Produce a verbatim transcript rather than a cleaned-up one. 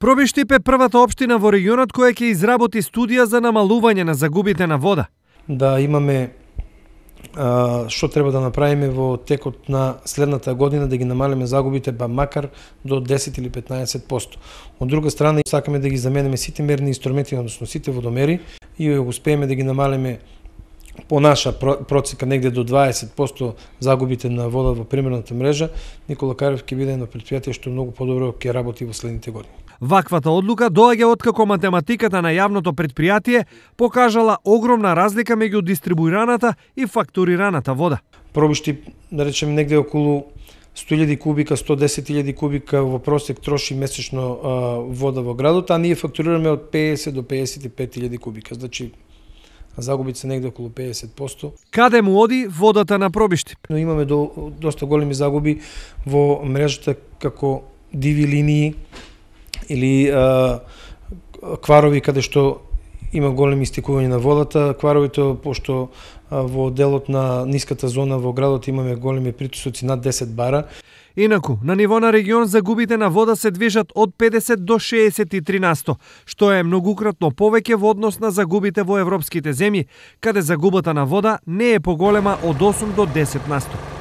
Пробиштип е првата општина во регионот која ќе изработи студија за намалување на загубите на вода. Да имаме а, што треба да направиме во текот на следната година да ги намалиме загубите ба макар до десет или петнаесет проценти. Од друга страна сакаме да ги замениме сите мерни инструменти, односно сите водомери и го успееме да ги намалиме по наша процека негде до дваесет проценти загубите на вода во примерната мрежа. Никола Карев ќе биде едно претпријатие што многу подобро ќе работи во следните години. Ваквата одлука доаѓа откако математиката на јавното претпријатие покажала огромна разлика меѓу дистрибуираната и фактурираната вода. Пробиштип, да речеме, негде околу сто илјади кубика, сто десет илјади кубика во просек троши месечно а, вода во градот, а ние фактурираме од педесет до педесет и пет илјади кубика. Значи, загубите се негде околу педесет проценти. Каде му оди водата на Пробиштип? Но имаме до, доста големи загуби во мрежата како диви линии или а, кварови каде што има големи истекување на водата. Кваровите, пошто а, во делот на ниската зона во градот имаме големи притисоци над десет бара. Инаку, на ниво на регион загубите на вода се движат од педесет до шеесет и три насто, што е многукратно повеќе во однос на загубите во европските земји, каде загубата на вода не е поголема од осум до десет насто.